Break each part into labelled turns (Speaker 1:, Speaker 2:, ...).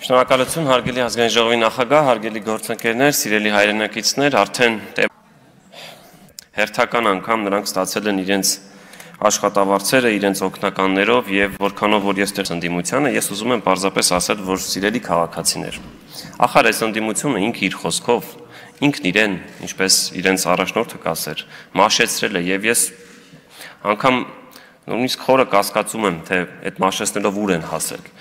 Speaker 1: Շնորհակալություն հարգելի ազգային ժողովի նախագահ, հարգելի գործընկերներ, սիրելի հայրենակիցներ, արդեն հերթական անգամ նրանք ստացել են իրենց աշխատավարձերը իրենց օգնականներով եւ որքանով որ ես դեռ ընդդիմությանը, ես ուզում եմ պարզապես ասել, որ սիրելի քաղաքացիներ, ախար այս ընդդիմությունը ինքը իր խոսքով, ինքն իրեն, ինչպես իրենց առաջնորդը կասեր, մաշեցրել է եւ ես անգամ նույնիսկ խորը կասկածում եմ, թե այդ մաշեցնելով ուր են հասել։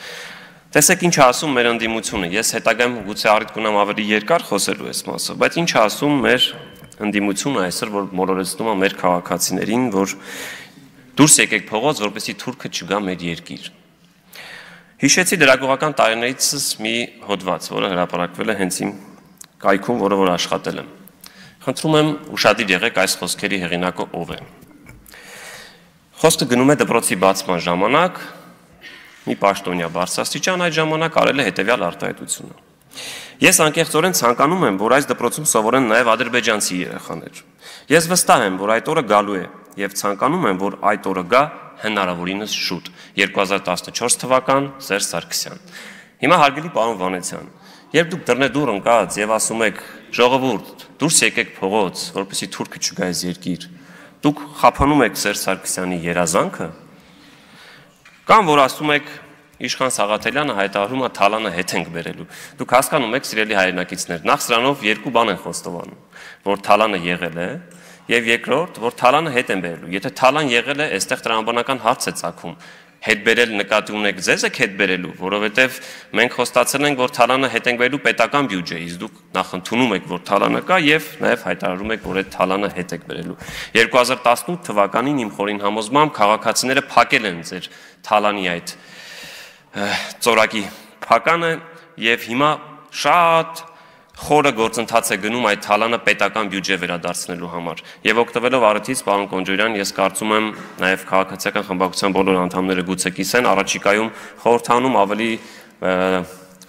Speaker 1: Տեսեք ինչ ասում մեր ընդդիմությունը, ես հետագայում գուցե առիթ կունեմ ավելի երկար խոսելու այս մասը, բայց ինչ ասում մեր ընդդիմությունը այսօր, որ մոլորեցնում է մեր քաղաքացիներին, որ դուրս եկեք փողոց, որպեսզի թուրքը չգա մեր երկիր։ Հիշեցի դրագողական տարիներիցս մի հոդված, որը հրապարակվել է հենց իմ կայքում, որը որ աշխատել եմ։ Խնդրում եմ ուշադիր եղեք այս խոսքերի հեղինակը ով է։ Խոսքը գնում է դպրոցի բացման ժամանակ մի պաշտոնյա բարձրաստիճան այդ ժամանակ արել է հետևյալ արտահայտությունը։ Ես անկեղծորեն ցանկանում եմ, որ այս դպրոցում սովորեն նաև ադրբեջանցի երեխաներ։ Ես վստահ եմ, որ այդ օրը գալու է եւ ցանկանում եմ, որ այդ օրը գա հնարավորինս շուտ։ 2014 թվական Սերժ Սարգսյան։ Հիմա հարգելի պարոն Վանեցյան, երբ դուք դռնեդուր ընկած եւ ասում եք ժողովուրդ, դուրս եկեք փողոց, որպեսզի թուրքը չգա այս երկիր, դուք խափանում եք Սերժ Սարգսյանի երազանքը, կամ որ ասում եք Իշխան Սաղաթելյանը հայտարարում է Թալանը հետ ենք բերելու։ Դուք հասկանում եք, սիրելի հայրենակիցներ, նախ սրանով երկու բան են խոստովանում, որ Թալանը եղել է, եւ երկրորդ, որ Թալանը հետ են բերելու։ Եթե Թալան եղել է, այստեղ տրամաբանական հարց է ծագում։ Հետ բերել նկատի ունեք ձեզ եք հետ բերելու, որովհետեւ մենք խոստացել ենք, որ Թալանը հետ ենք բերելու պետական բյուջեից։ Դուք նախ ընդունում եք, որ Թալանը կա եւ նաեւ հայտարարում եք, որ այդ Թալանը հետ եք բերելու։ 2018 թվականին իմ խորին համոզմամբ քաղաքացիները փակել են ձեր Թալանի այդ ծորակի փականը եւ հիմա շատ խորը գործընթաց է գնում այդ Թալանը պետական բյուջե վերադարձնելու համար։ Եվ օգտվելով առիթից, պարոն Կոնջորյան, ես կարծում եմ նաև քաղաքացիական խմբակցության բոլոր անդամները գուցե կիսեն, առաջիկայում խորհրդանում ավելի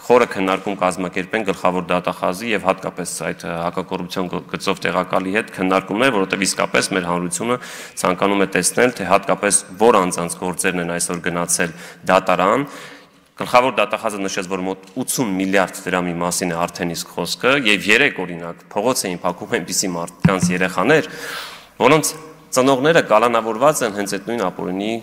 Speaker 1: խորը քննարկում կազմակերպեն գլխավոր դատախազի եւ հատկապես այդ հակակոռուպցիոն գծով տեղակալի հետ քննարկումներ, որովհետեւ իսկապես մեր հանրությունը ցանկանում է տեսնել, թե հատկապես որ անձանց գործերն են այսօր գնացել դատարան։ Գլխավոր դատախազը նշեց, որ մոտ 80 միլիարդ դրամի մասին է արդեն իսկ խոսքը եւ 3 օրինակ փողոց էին փակում այնպիսի մարդկանց երեխաներ, որոնց ծնողները կալանավորված են հենց այդ նույն ապօրինի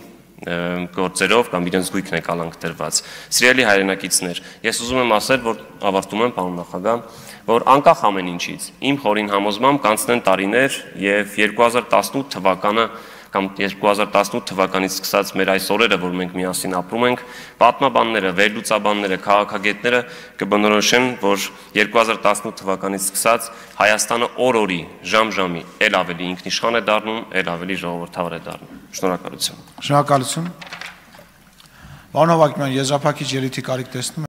Speaker 1: գործերով կամ իրենց գույքն է կալանք դրված։ Սիրելի հայրենակիցներ, ես ուզում եմ ասել, որ ավարտում եմ, պարոն նախագահ, որ անկախ ամեն ինչից իմ խորին համոզմամբ կանցնեն տարիներ եւ 2018 թվականը կամ 2018 թվականից սկսած մեր այս օրերը, որ մենք միասին ապրում ենք, պատմաբանները, վերլուծաբանները, քաղաքագետները կբնորոշեն, որ 2018 թվականից սկսած Հայաստանը օր-օրի, ժամ-ժամի էլ ավելի ինքնիշխան է դառնում, էլ ավելի ժողովրդավար է դառնում։ Շնորհակալություն։
Speaker 2: Շնորհակալություն։ Պարոն Հովհաննիսյան, եզրափակիչ ելույթի կարիք տեսնում